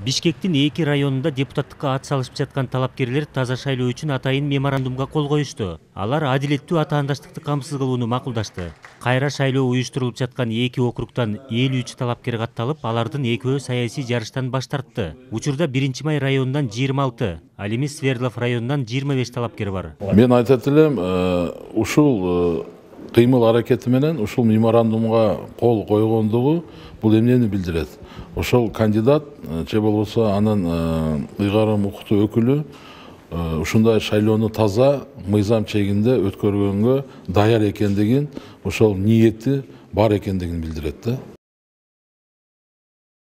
Бишкектин 2 районунда депутаттыкка ат салышып жаткан талапкерлер таза шайлоо үчүн атайын меморандумга кол коюшту. Алар адилеттүү атаандаштыкты камсыз кылууну макулдашты. Кайра шайлоо уюштурулуп жаткан 2 округтан 53 талапкер катталып, алардын экөө саясий жарыштан баш тартты. Учурда 1-Май районунан 26, ал эми Свердлов районунан 25 талапкер бар. Мен айтат элем, ушул кыймыл аракети менен ушул меморандумга кол койгондугу бул эмнени билдирет? Ошол кандидат же болбосо анын ыйгарым укуктуу өкүлү ушундай шайлоону таза, мыйзам чегинде өткөргөнгө даяр экендигин, ошол ниети бар экендигин билдирет да.